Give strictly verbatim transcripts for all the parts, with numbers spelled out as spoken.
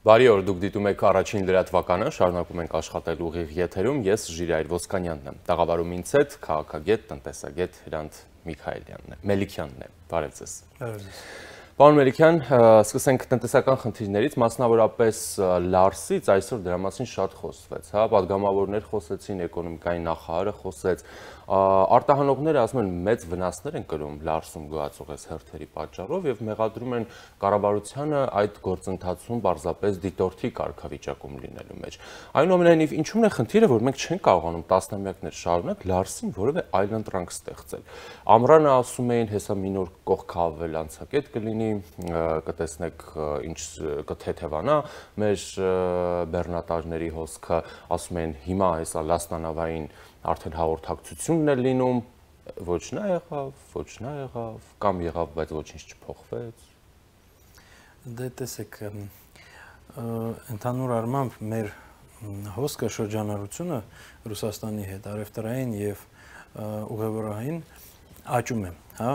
Բարի օր, դուք դիտում եք առաջին լրատվականը, շարունակում ենք աշխատել ուղիղ եթերում, ես Ժիրայր Ոսկանյանն եմ, տաղավարում ինձ հետ քաղաքագետ, տնտեսագետ Հրանտ Միքայելյանն է, Մելիքյանն է, բարև ձեզ։ Պարոն Մելիքյան, սկսենք տնտեսական խնդիրներից, մասնավորապես Լարսից այսօր դրա մասին շատ խոսվեց, հա, պատգամավորներ խոսեցին, էկոնոմիկայի նախարարը խոսեց, արտահանողները ասում են մեծ վնասներ են կրում Լարսում գոյացող այս հերթերի պատճառով եւ մեղադրում են կառավարությանը այդ գործընթացում պարզապես դիտորդի կարգավիճակում լինելու մեջ։ Այնուամենայնիվ, ինչու՞մն է խնդիրը, որ մենք չենք կարողանում տասնամյակներ շարունակ Լարսին որևէ այլընտրանք ստեղծել։ Ամռանը ասում էին, հեսա մի նոր կողքավել անցակետ կլինի, կտեսնեք ինչ կթեթևանա մեր բեռնատարների հոսքը, ասում են հիմա հեսա լասնանավային արդեն հաղորդակցությունն է լինում, ոչ նա եղավ, ոչ նա եղավ, կամ եղավ, բայց ոչինչ չփոխվեց։ Դե տեսեք, ընդհանուր առմամբ մեր հոսքը շրջանառությունը Ռուսաստանի հետ արևտրային եւ ուղևորային աճում է, հա,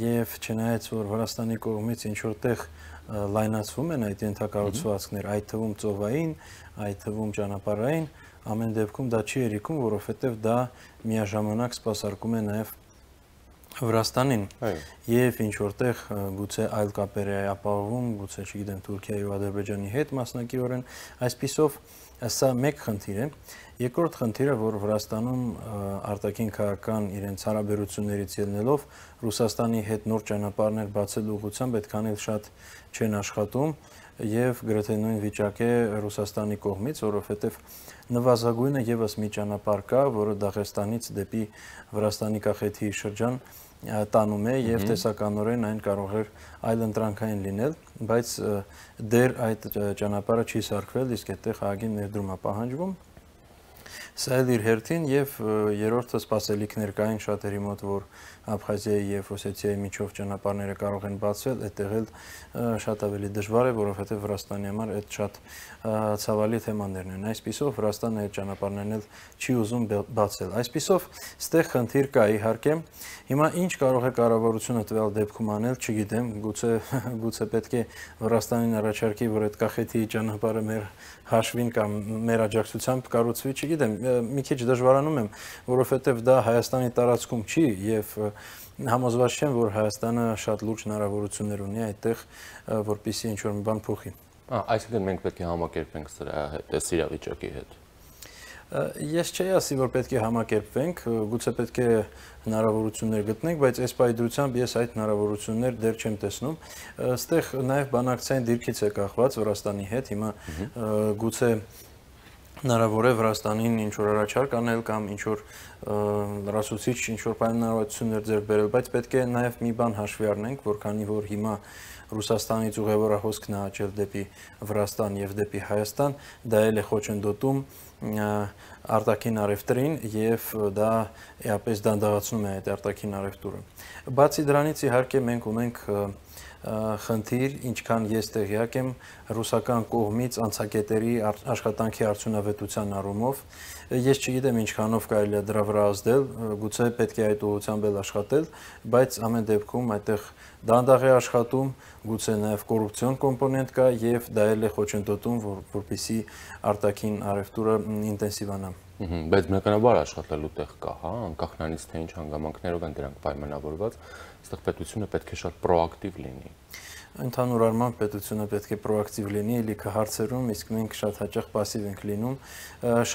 եւ չնայած որ Վրաստանի կողմից ինչ որտեղ լայնացվում են այդ ենթակառուցվածքներ, այդ թվում ծովային, այդ թվում ճանապարհային, ամեն դեպքում դա չի երիկում, որովհետև դա միաժամանակ սպասարկում է նաև Վրաստանին եւ ինչ որտեղ գուցե այլ կապեր է ապահովում, գուցե չգիտեմ Թուրքիայի ու Ադրբեջանի հետ մասնակիորեն, այսպիսով սա մեկ խնդիր է։ Երկրորդ խնդիրը, որ Վրաստանում արտաքին քաղաքական իրենց հարաբերություններից ելնելով Ռուսաստանի հետ նոր ճանապարհներ բացելու ուղղությամբ այդքան էլ շատ չեն աշխատում եւ գրեթե նույն վիճակ է Ռուսաստանի կողմից, որովհետեւ նվազագույնը եւս մի ճանապարհ կա, որը Դաղեստանից դեպի Վրաստանի կախեթի շրջան տանում է եւ տեսականորեն այն կարող է այլընտրանքային լինել, բայց դեռ այդ ճանապարհը չի սարքվել, իսկ այդտեղ հագին ներդրում է պահանջվում։ Սա էլ իր հերթին եւ երրորդը սպասելիքներ կային շատերի մոտ, որ Աբխազիայի եւ Օսեթիայի միջով ճանապարհները կարող են բացվել, այդտեղ էլ շատ ավելի դժվար է, որովհետեւ Վրաստանի համար այդ շատ ցավալի թեմաներն են։ Այսպիսով Վրաստանը այդ ճանապարհներն էլ չի ուզում բացել։ Այսպիսով ստեղ խնդիր կա իհարկե։ Հիմա ինչ կարող է կառավարությունը տվյալ դեպքում անել, չգիտեմ, գուցե գուցե պետք է Վրաստանին առաջարկի, որ այդ կախեթի ճանապարհը մեր հաշվին կամ մեր աջակցությամբ կառուցվի, չգիտեմ, մի քիչ դժվարանում եմ, որովհետև դա Հայաստանի տարածքում չի եւ համոզված չեմ, որ Հայաստանը շատ լուրջ հնարավորություններ ունի այդտեղ, որպեսզի ինչ-որ մի բան փոխի։ Այսինքն մենք պետք է համակերպենք սրա հետ, այս իրավիճակի հետ։ Ես չի ասի, որ պետք է համակերպվենք, գուցե պետք է հնարավորություններ գտնենք, բայց այս պայդրությամբ ես այդ հնարավորություններ դեռ չեմ տեսնում։ Այստեղ նաև բանակցային դիրքից է կախված Վրաստանի հետ, հիմա գուցե հնարավոր է Վրաստանին ինչ-որ առաջարկ անել կամ ինչ-որ լրացուցիչ ինչ-որ պայմանավորվածություններ ձեռք բերել, բայց պետք է նաև մի բան հաշվի առնենք, որ քանի որ հիմա Ռուսաստանից ուղևորահոսքն է աճել դեպի Վրաստան եւ դեպի Հայաստան, դա էլ է խոչընդոտում արտաքին առևտրին եւ դա էապես դանդաղացնում է այդ արտաքին առևտուրը։ Բացի դրանից իհարկե մենք ունենք խնդիր, ինչքան ես տեղյակ եմ ռուսական կողմից անցակետերի աշխատանքի արդյունավետության առումով, ես չգիտեմ ինչքանով կարելի է դրա վրա ազդել, գուցե պետք է այդ ուղղությամբ էլ աշխատել, բայց ամեն դեպքում այդտեղ դանդաղ է աշխատում, գուցե նաև կոռուպցիոն կոմպոնենտ կա եւ դա էլ է խոչընդոտում, որ որպեսզի արտաքին առևտուրը ինտենսիվանա։ Բայց բնականաբար աշխատելու տեղ կա, հա, անկախ նրանից թե ինչ հանգամանքներով են դրանք պայմանավորված, այստեղ պետությունը պետք է շատ պրոակտիվ լինի։ Ընդհանուր առմամբ պետությունը պետք է պրոակտիվ լինի լիքը հարցերում, իսկ մենք շատ հաճախ пассив ենք լինում։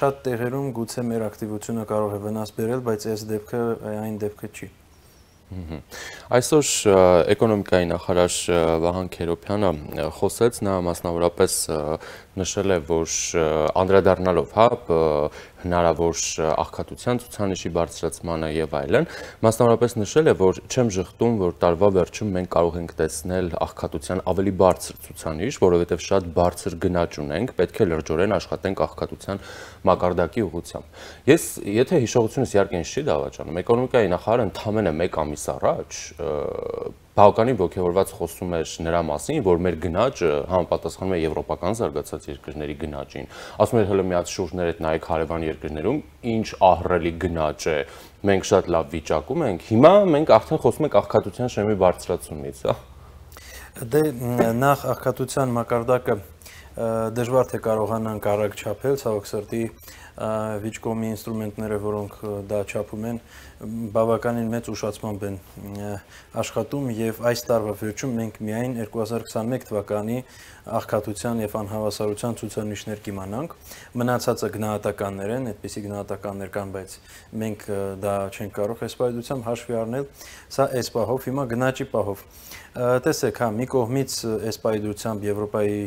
Շատ տեղերում գուցե մեր ակտիվությունը կարող է վնաս բերել, բայց այս դեպքը այն դեպքը չի։ Այսօր էկոնոմիկայի նախարար Վահան Քերոբյանը խոսեց, նա մասնավորապես նշել է, որ անդրադառնալով, հա, հնարավոր աղքատության ցուցանիշի բարձրացմանը եւ այլն, մասնավորապես նշել է, որ չեմ ժխտում, որ տարվա վերջում մենք կարող ենք տեսնել աղքատության ավելի բարձր ցուցանիշ, որովհետեւ շատ բարձր գնաճ ունենք, պետք է լրջորեն աշխատենք աղքատության մակարդակի ուղղությամբ։ Ես, եթե հիշողությունս իհարկե ինձ չի դավաճանում, էկոնոմիկայի նախարարը ընդամենը մեկ ամիս առաջ բավականին ոգևորված խոսում էր նրա մասին, որ մեր գնաճը համապատասխանում է եվրոպական զարգացած երկրների գնաճին։ Ասում էր հələ մի հատ շուրջներդ նայեք հարևան երկրներում, ինչ ահռելի գնաճ է, մենք շատ լավ վիճակում ենք։ Հիմա մենք արդեն խոսում ենք աղքատության շեմի բարձրացումից, հա։ Դե նախ աղքատության մակարդակը դժվար թե կարողանանք արագ չափել, ցավոք սրտի վիճկոմի ինստրումենտները, որոնք դա չափում են, բավականին մեծ ուշացմամբ են աշխատում եւ այս տարվա վերջում մենք միայն երկու հազար քսաներկու թվականի աղքատության եւ անհավասարության ցուցանիշներ կիմանանք, մնացածը գնահատականներ են, այդպիսի գնահատականներ կան, բայց մենք դա չենք կարող եսպայդությամբ հաշվի առնել, սա էս պահով, հիմա գնաճի պահով տեսեք, հա, մի կողմից եսպայդությամբ Եվրոպայի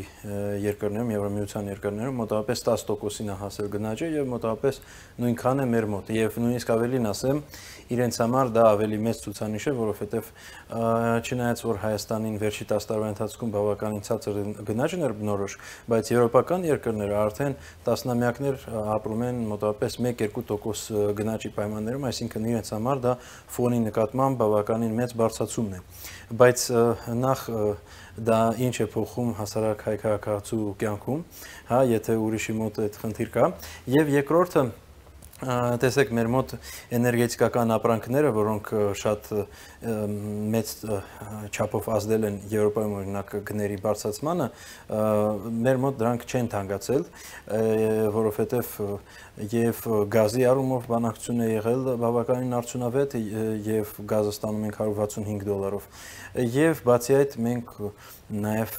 երկրներում, Եվրամիության երկրներում մոտավորապես տասը տոկոսին է հասել գնաճը եւ մոտավորապես նույնքան է մեր մոտ եւ նույնիսկ ավելին ասեմ, իրենց համար դա ավելի մեծ ցուցանիշ է, որովհետեւ չնայած որ Հայաստանին վերջի տասը տարվա ընթացքում բավականին ցածր գնաճն էր բնորոշ, բայց եվրոպական երկրները արդեն տասնամյակներ ապրում են մոտավորապես մեկ-երկու տոկոս գնաճի պայմաններում, այսինքն իրենց համար դա ֆոնի նկատմամբ բավականին մեծ բարձրացումն է, բայց նախ դա ինչ է փոխում հասարակ հայ քաղաքացու կյանքում, հա, եթե ուրիշի մոտ այդ խնդիր կա, եւ երկրորդը տեսեք մեր մոտ էներգետիկական ապրանքները, որոնք շատ մեծ չափով ազդել են Եվրոպայում օրինակ գների բարձրացմանը, մեր մոտ դրանք չեն թանկացել, որովհետև եւ գազի առումով բանակցություն է եղել բավականին արդյունավետ եւ գազը ստանում ենք հարյուր վաթսունհինգ դոլարով եւ բացի այդ մենք նաեւ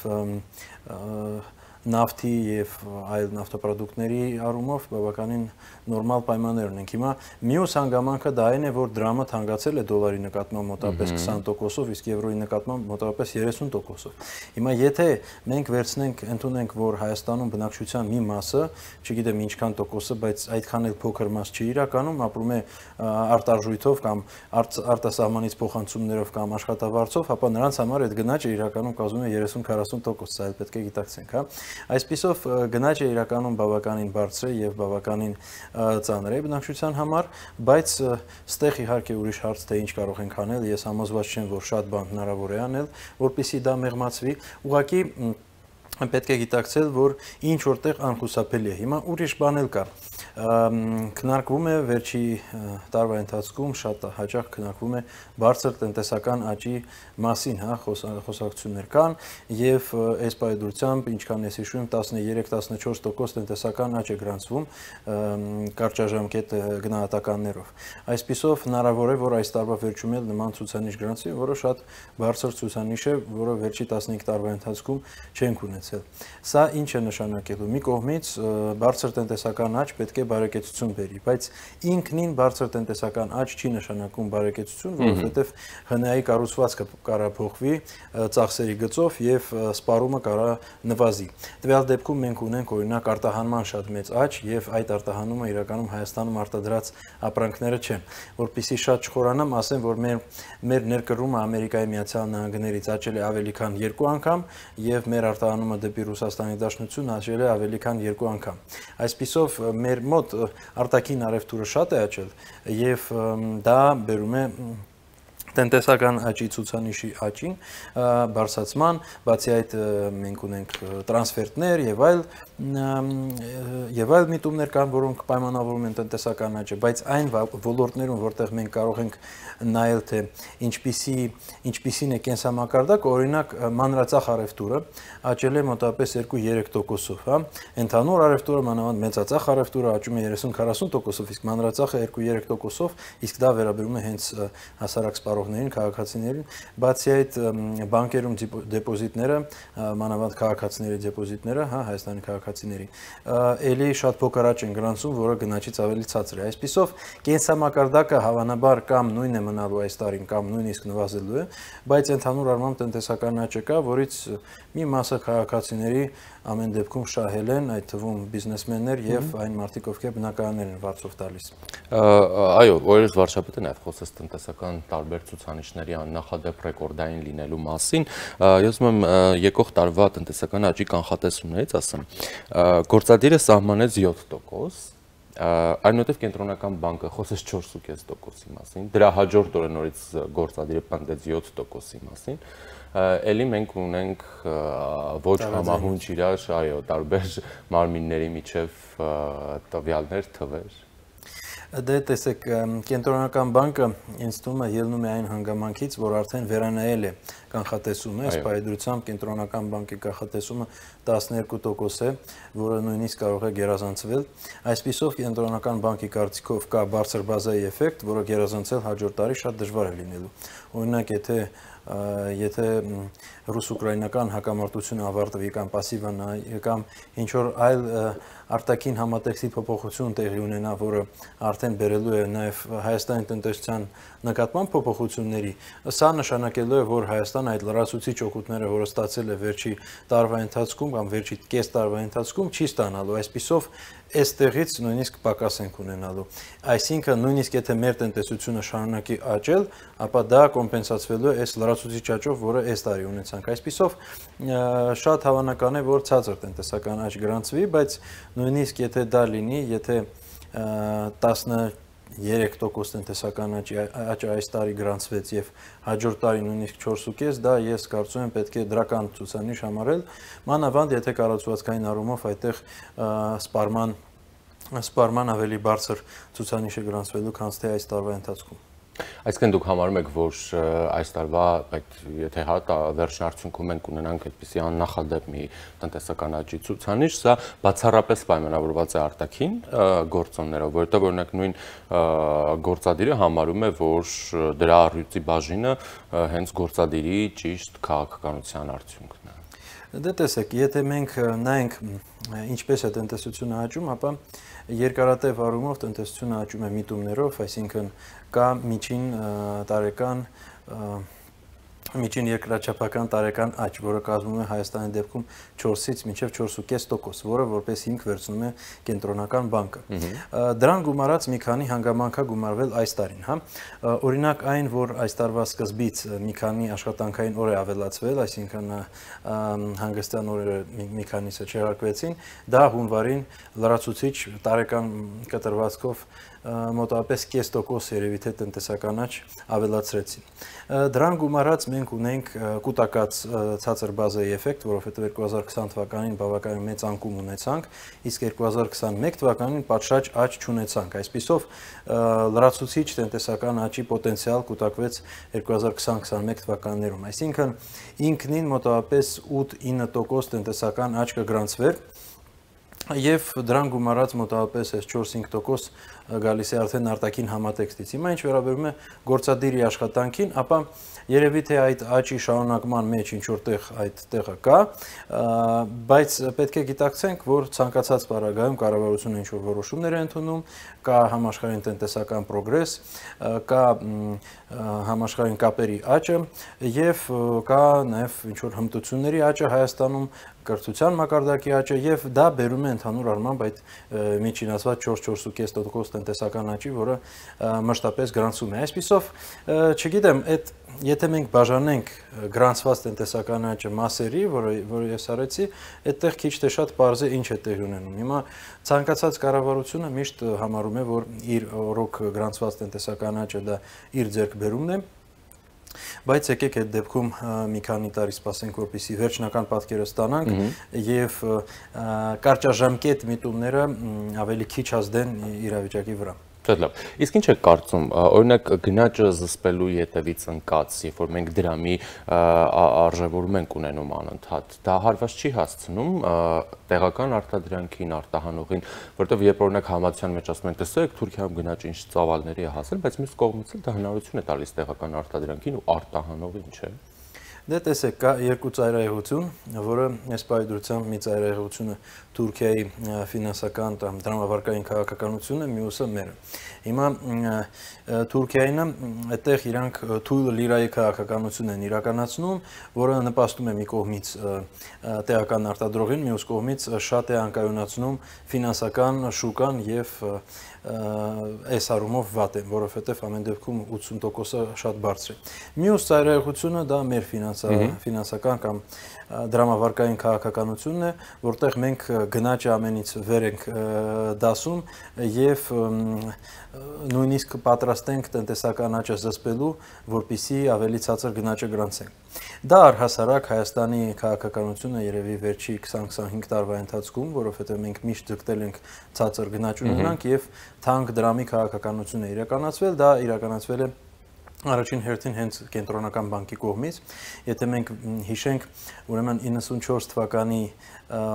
նավթի եւ այլ նավթապրոդուկտների առումով բավականին նորմալ պայմաններ ունենք։ Հիմա մյուս հանգամանքը դա այն է, որ դրամը թանկացել է դոլարի նկատմամբ մոտավորապես քսան տոկոսով, իսկ եվրոյի նկատմամբ մոտավորապես երեսուն տոկոսով։ Հիմա եթե մենք վերցնենք, ընդունենք, որ Հայաստանում բնակչության մի մասը, չգիտեմ ինչքան տոկոսը, բայց այդքան էլ փոքր մաս չի իրականում, ապրում է արտարժույթով կամ արտասահմանից փոխանցումներով կամ աշխատավարձով, ապա նրանց համար այդ գնաճը իրականում կազմում է երեսուն-քառասուն տոկոս, սա էլ պետք է գիտակցենք, հա։ Այսպիսով գնաճը իրականում բավականին բարձր է եւ բավականին ծանր է բնակչության համար, բայց ստեղ իհարկե ուրիշ հարց թե ինչ կարող ենք անել, ես համոզված չեմ, որ շատ բան հնարավոր է անել, որպեսզի դա մեղմացվի, ուղղակի պետք է գիտակցել, որ ինչ որտեղ անխուսափելի է։ Հիմա ուրիշ բան էլ կա։ Քննարկվում է վերջի տարվա ընթացքում շատ հաճախ քննարկվում է բարձր տնտեսական աճի մասին, հա, խոսակցություններ կան եւ այս պայմանությամբ ինչքան ես հիշում եմ տասներեք տասնչորս տոկոս տնտեսական աճ է գրանցվում կարճաժամկետ գնահատականներով։ Այսպիսով հնարավոր է, որ այս տարվա վերջում էլ նման ցուցանիշ գրանցվի, որը շատ բարձր ցուցանիշ է, որը վերջի տասնհինգ տարվա ընթացքում չենք ունեցել։ Սա ինչ է նշանակելու։ Մի կողմից բարձր տնտեսական աճ պետք է բարեկեցություն բերի, բայց ինքնին բարձր տնտեսական աճ չի նշանակում բարեկեցություն, որովհետև ՀՆԱ-ի կառուցվածքը կարա փոխվի ծախսերի գծով եւ սպառումը կարա նվազի։ Տվյալ դեպքում մենք ունենք օրինակ արտահանման շատ մեծ աճ եւ այդ արտահանումը իրականում Հայաստանում արտադրած ապրանքները չեն։ Որպեսզի շատ չխորանամ, ասեմ, որ մեր մեր ներկրումը Ամերիկայի Միացյալ Նահանգներից աճել է ավելի քան երկու անգամ եւ մեր արտահանումը դեպի Ռուսաստանի Դաշնություն աճել է ավելի քան երկու անգամ։ Այսպիսով մեր մոտ արտաքին առևտուրը շատ է աճել եւ դա բերում է տնտեսական աճի ցուցանիշի աճին, բարձրացման, բացի այդ մենք ունենք տրանսֆերտներ եւ այլ եւ այլ միտումներ կան, որոնք պայմանավորում են տնտեսական աճը, բայց այն ոլորտներում, որտեղ մենք կարող ենք նայել, թե ինչպիսի ինչպիսին է կենսամակարդակը, օրինակ մանրածախ առևտուրը աճել է մոտավորապես երկու-երեք տոկոսով, հա, ընդհանուր առևտուրը մանավանդ մեծածախ առևտուրը աճում է երեսուն-քառասուն տոկոսով, իսկ մանրածախը երկու-երեք տոկոսով, իսկ դա վերաբերում է հենց հասարակ սպառողներին, քաղաքացիներին, բացի այդ բանկերում դեպոզիտները, մանավանդ քաղաքացիների դեպոզիտները, հա, Հայաստանի քաղաքացիների, ելի շատ փոքր աճ են գրանցում, որը գնաճից ավելի ցածր է։ Այսպիսով կենսամակարդակը հավանաբար կամ նույնն է մնալու այս տարին, կամ նույնիսկ նվազելու է, բայց ընդհանուր առմամբ տնտեսական աճը կա, որից մի մասը քաղաքացիների ամեն դեպքում շահել են, այդ թվում բիզնեսմեններ եւ այն մարդիկ, ովքեր բնակարաններ են վարձով տալիս։ Այո, օրերս վարչապետը նաեւ խոսեց տնտեսական տարբեր ցուցանիշների աննախադեպ ռեկորդային լինելու մասին։ Ես ուզում եմ եկող տարվա տնտեսական աճի կանխատեսումներից ասեմ։ Գործադիրը սահմանեց յոթ տոկոս, այնուհետև կենտրոնական բանկը խոսեց չորս կես տոկոսի մասին, դրա հաջորդ օրը նորից գործադիրը պնդեց յոթ տոկոսի մասին։ Էլի մենք ունենք ոչ համահունչ իրար, այո, տարբեր մարմինների միջև տվյալներ, թվեր։ Դե տեսեք, կենտրոնական բանկը ինձ թվում է ելնում է այն հանգամանքից, որ արդեն վերանայել է կանխատեսումը, այս պայմանությամբ կենտրոնական բանկի կանխատեսումը տասներկու տոկոս է, որը նույնիսկ կարող է գերազանցվել։ Այսպիսով կենտրոնական բանկի կարծիքով կա բարձր բազայի էֆեկտ, որը գերազանցել հաջորդ տարի շատ դժվար է լինելու։ Օրինակ, եթե եթե ռուս-ուկրաինական հակամարտությունը ավարտվի կամ պասիվան կամ ինչ-որ այլ արտաքին համատեքստի փոփոխություն տեղի ունենա, որը արդեն բերելու է նաև Հայաստանի տնտեսության նկատմամբ փոփոխությունների, սա նշանակելու է, որ Հայաստանը այդ լրացուցիչ օգուտները, որը ստացել է վերջի տարվա ընթացքում կամ վերջի կես տարվա ընթացքում, չի ստանալու, այսպիսով այստեղից նույնիսկ պակաս ենք ունենալու։ Այսինքն նույնիսկ եթե մեր տնտեսությունը շարունակի աճել, ապա դա կոմպենսացվելու է այս լրացուցիչ աճով, որը այս տարի ունեցանք։ Այսպիսով շատ հավանական է, որ ցածր տնտեսական աճ գրանցվի, բայց նույնիսկ եթե դա լինի, եթե տասներեք տոկոս տնտեսական աճը այս տարի գրանցվեց եւ հաջորդ տարի նույնիսկ չորս կես, դա ես կարծում եմ պետք է դրական ցուցանիշ համարել, մանավանդ եթե կառուցվածքային առումով այդտեղ սպառման սպառման ավելի բարձր ցուցանիշ է գրանցվելու, քան թե այս տարվա ընթացքում։ Այսինքն դուք համարում եք, որ այս տարվա այդ եթե հա վերջնարդյունքում մենք ունենանք այդպիսի աննախադեպ մի տնտեսական աճի ցուցանիշ, սա բացառապես պայմանավորված է արտաքին գործոններով, որովհետև օրինակ նույն գործադիրը համարում է, որ դրա առյուծի բաժինը հենց գործադիրի ճիշտ քաղաքականության արդյունքն է։ Դե տեսեք, եթե մենք նայենք ինչպես է տնտեսությունը աճում, ապա երկարատև առումով տնտեսությունը աճում է միտումներով, այսինքն կա միջին տարեկան միջին երկրաչափական տարեկան աճ, որը կազմում է Հայաստանի դեպքում չորսից մինչև չորս կես տոկոս, որը որպես հիմք վերցնում է կենտրոնական բանկը։ Դրան գումարած մի քանի հանգամանք է գումարվել այս տարին, հա։ Օրինակ այն, որ այս տարվա սկզբից մի քանի աշխատանքային օր է ավելացվել, այսինքն հանգստյան օրերը մի քանիսը չեղարկվեցին, դա հունվարին լրացուցիչ տարեկան կտրվածքով մոտավորապես կես տոկոս երևի թե տնտեսական աճ ավելացրեցին։ Դրան գումարած մենք ունենք կուտակած ցածր բազայի էֆեկտ, որովհետև երկու հազար քսան թվականին բավականին մեծ անկում ունեցանք, իսկ երկու հազար քսանմեկ թվականին պատշաճ աճ չունեցանք։ Այսպիսով լրացուցիչ տնտեսական աճի պոտենցիալ կուտակվեց երկու հազար քսան քսանմեկ թվականներում։ Այսինքն ինքնին մոտավորապես ութ-ինը տոկոս տնտեսական աճ կգրանցվեր եւ դրան գումարած մոտավորապես չորս-հինգ տոկոս գալիս է արդեն արտաքին համատեքստից։ Հիմա ինչ վերաբերում է գործադիրի աշխատանքին, ապա երևի թե այդ աճի շարունակման մեջ ինչ որտեղ այդ տեղը կա, բայց պետք է գիտակցենք, որ ցանկացած պարագայում կառավարությունը ինչ որ որոշումներ է ընդունում, կա համաշխարհային տնտեսական պրոգրես, կա համաշխարհային կապերի աճը եւ կա նաեւ ինչ որ հմտությունների աճը Հայաստանում, կրթության մակարդակի աճը եւ դա բերում է ընդհանուր առմամբ այդ միջինացված չորս-չորս կես տոկոս տնտեսական աճի, որը մշտապես գրանցում է։ Այսպիսով, չգիտեմ, այդ եթե մենք բաժանենք գրանցված տնտեսական աճը մասերի, որը որը ես արեցի, այդտեղ քիչ թե շատ պարզ է ինչ է տեղի ունենում։ Հիմա ցանկացած կառավարությունը միշտ համարում է, որ իր օրոք գրանցված տնտեսական աճը դա իր ձեռքբերումն է, բայց եկեք այդ դեպքում մի քանի տարի սպասենք, որպեսզի վերջնական պատկերը ստանանք եւ կարճաժամկետ միտումները ավելի քիչ ազդեն իրավիճակի վրա։ Շատ լավ։ Իսկ ինչ եք կարծում, օրինակ գնաճը զսպելու յետևից ընկած, երբ որ մենք դրամի արժևորում ենք ունենում անընդհատ, դա հարված չի հասցնում տեղական արտադրանքին, արտահանողին, որտեղ երբ օրինակ համացան մեջ ասում են, տեսեք, Թուրքիայում գնաճը ինչ ծավալների է հասել, բայց մյուս կողմից էլ դա հնարավորություն է տալիս տեղական արտադրանքին ու արտահանողին, չէ՞։ Դե տեսեք, կա երկու ծայրահեղություն, որը այս պայդրությամբ մի ծայրահեղությունը Թուրքիայի ֆինանսական դրամավարկային քաղաքականությունը, մյուսը մերը։ Հիմա Թուրքիայինը այդտեղ իրանք թույլ լիրայի քաղաքականություն են իրականացնում, որը նպաստում է մի կողմից տեղական արտադրողին, մյուս կողմից շատ է անկայունացնում ֆինանսական շուկան եւ այս առումով վատ է, որովհետև ամեն դեպքում ութսուն տոկոսը շատ բարձր է։ Մյուս ծայրահեղությունը դա մեր ֆինանսական կամ դրամավարկային քաղաքականությունն է, որտեղ մենք գնաճը ամենից վեր ենք դասում եւ նույնիսկ պատրաստ ենք տնտեսական աճը զսպելու, որպեսզի ավելի ցածր գնաճը գրանցենք։ Դա առհասարակ Հայաստանի քաղաքականությունը երևի վերջի քսան-քսանհինգ տարվա ընթացքում, որովհետև մենք միշտ ձգտել ենք ցածր գնաճ ունենանք եւ թանկ դրամի քաղաքականություն է իրականացվել, դա իրականացվել է Առաջին հերթին հենց կենտրոնական բանկի կողմից, եթե մենք հիշենք, ուրեմն իննսունչորս թվականի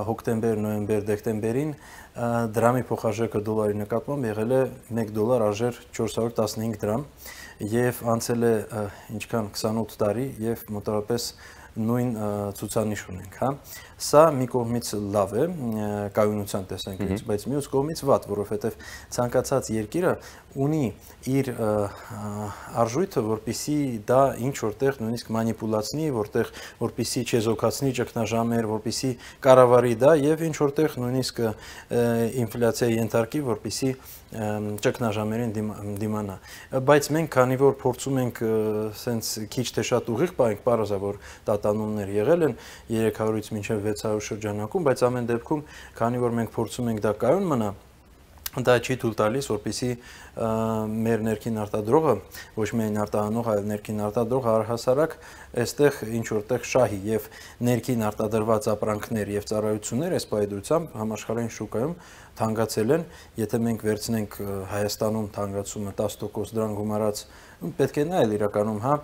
հոկտեմբեր, նոյեմբեր, դեկտեմբերին դրամի փոխարժեքը դոլարի նկատմամբ եղել է մեկ դոլար արժեր չորս հարյուր տասնհինգ դրամ եւ անցել է ինչքան քսանութ տարի եւ մոտավորապես նույն ցուցանիշ ունենք, հա։ Սա մի կողմից լավ է կայունության տեսանկյունից, բայց մյուս կողմից վատ, որովհետև ցանկացած երկիրը ունի իր արժույթը, որպեսզի դա ինչ որտեղ նույնիսկ մանիպուլացնի, որտեղ որպեսզի չեզոքացնի ճգնաժամեր, որպեսզի կառավարի դա եւ ինչ որտեղ նույնիսկ ինֆլյացիայի ենթարկի, որպեսզի ճգնաժամերին դիմանա։ Բայց մենք քանի որ փորձում ենք սենց քիչ թե շատ ուղիղ պահենք, պարզա որ տատանումներ եղել են երեք հարյուրից մինչև վեց հարյուր շրջանակում, բայց ամեն դեպքում, քանի որ մենք փորձում ենք դա կայուն մնա, դա չի թույլ տալիս, որպեսզի մեր ներքին արտադրողը, ոչ միայն արտահանող, այլ ներքին արտադրողը առհասարակ այստեղ ինչ որտեղ շահի եւ ներքին արտադրված ապրանքներ եւ ծառայություններ այս պայծրությամբ համաշխարհային շուկայում թանկացել են, եթե մենք վերցնենք Հայաստանում թանկացումը տասը տոկոս դրան գումարած, պետք է նայել իրականում, հա,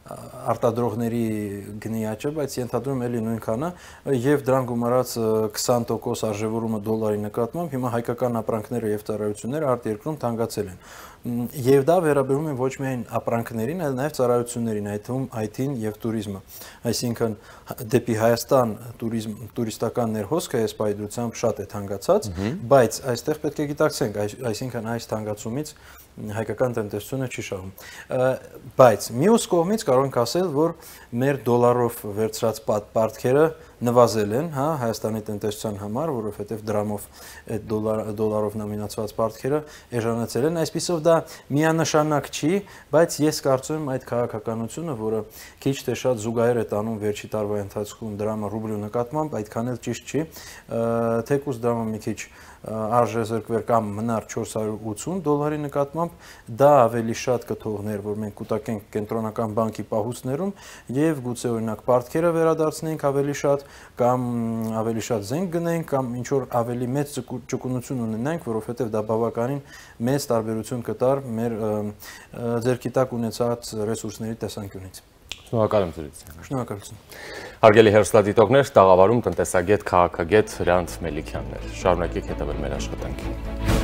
արտադրողների գնի աճը, բայց ենթադրում էլի նույնքան է եւ դրան գումարած քսան տոկոս արժևորումը դոլարի նկատմամբ հիմա հայկական ապրանքները եւ ծառայությունները արտերկրում թանկացել են։ Եվ դա վերաբերում է ոչ միայն ապրանքներին, այլ նաեւ ծառայություններին, այդ թվում այ թին եւ туриզմը։ Այսինքն դեպի Հայաստան туриզմ տուրիստական ներհոսքը այս պայծրությամբ շատ է թանկացած, բայց այստեղ պետք է գիտակցենք, այսինքն այս թանկացումից հայկական տնտեսությունը չի շահում։ Բայց մյուս կողմից կարող ենք ասել, որ մեր դոլարով վերցրած պարտքերը նվազել են, հա, Հայաստանի տնտեսության համար, որովհետև դրամով այդ դոլարով նոմինացված պարտքերը էժանացել են, այսպիսով դա միանշանակ չի, բայց ես կարծում եմ այդ քաղաքականությունը, որը քիչ թե շատ զուգահեռ է տանում վերջի տարվա ընթացքում դրամը ռուբլու նկատմամբ, այդքան էլ ճիշտ չի, թեկուզ դրամը մի քիչ արժեզրկվեր կամ մնար չորս հարյուր ութուն դոլարի նկատմամբ, դա ավելի շատ կթողներ, որ մենք կուտակենք կենտրոնական բանկի պահուստներում եւ գուցե օրինակ պարտքերը վերադարձնենք ավելի շատ կամ ավելի շատ զենք գնենք կամ ինչ որ ավելի մեծ ճկունություն ունենանք, որովհետեւ դա բավականին մեծ տարբերություն կտար մեր ձեռքի տակ ունեցած ռեսուրսների տեսանկյունից։ Շնորհակալ եմ ձեզ։ Շնորհակալություն։ Հարգելի հեռուստադիտողներ, տաղավարում տնտեսագետ, քաղաքագետ Հրանտ Մելիքյանն էր։ Շարունակեք հետևել մեր աշխատանքին։